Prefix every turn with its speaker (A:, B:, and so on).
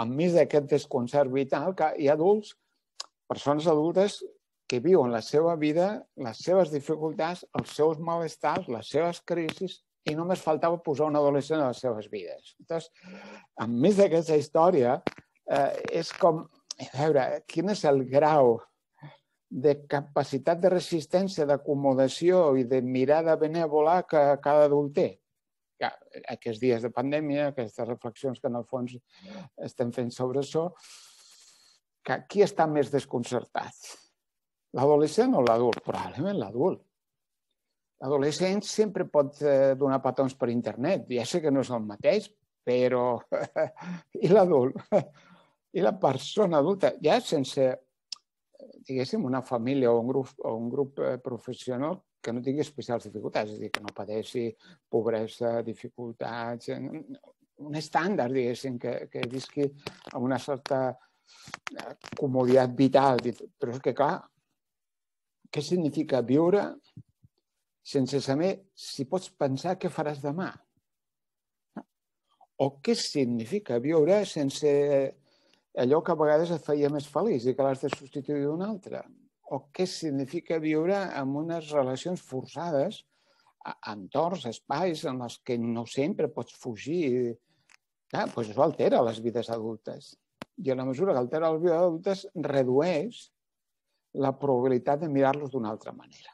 A: enmig d'aquest desconcert vital, que hi ha adults, persones adultes, que viuen la seva vida, les seves dificultats, els seus malestars, les seves crisis, i només faltava posar un adolescent a les seves vides. Llavors, enmig d'aquesta història, és com, a veure, quin és el grau de capacitat de resistència, d'acomodació i de mirada benèvola que cada adult té. Aquests dies de pandèmia, aquestes reflexions que en el fons estem fent sobre això, qui està més desconcertat? L'adolescent o l'adult? Probablement l'adult. L'adolescent sempre pot donar petons per internet. Ja sé que no és el mateix, però... I l'adult? I la persona adulta? Ja sense, diguéssim, una família o un grup professional que no tingui especials dificultats, és a dir, que no pateixi pobresa, dificultats, un estàndard, diguéssim, que visqui amb una certa comoditat vital. Però és que, clar, què significa viure sense saber si pots pensar què faràs demà? O què significa viure sense allò que a vegades et feia més feliç i que l'has de substituir d'un altre? O què significa viure amb unes relacions forçades, entorns, espais en els que no sempre pots fugir? Clar, doncs això altera les vides adultes. I a la mesura que altera les vides adultes, redueix la probabilitat de mirar-los d'una altra manera.